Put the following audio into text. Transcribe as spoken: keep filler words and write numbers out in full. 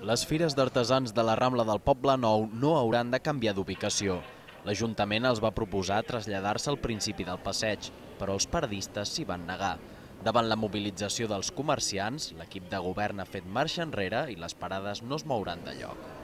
Les fires d'artesans de la Rambla del Poble Nou no hauran de canviar d'ubicació. L'Ajuntament els va proposar traslladar-se al principi del passeig, però els paradistes s'hi van negar. Davant la mobilització dels comerciants, l'equip de govern ha fet marxa enrere i les parades no es mouran de lloc.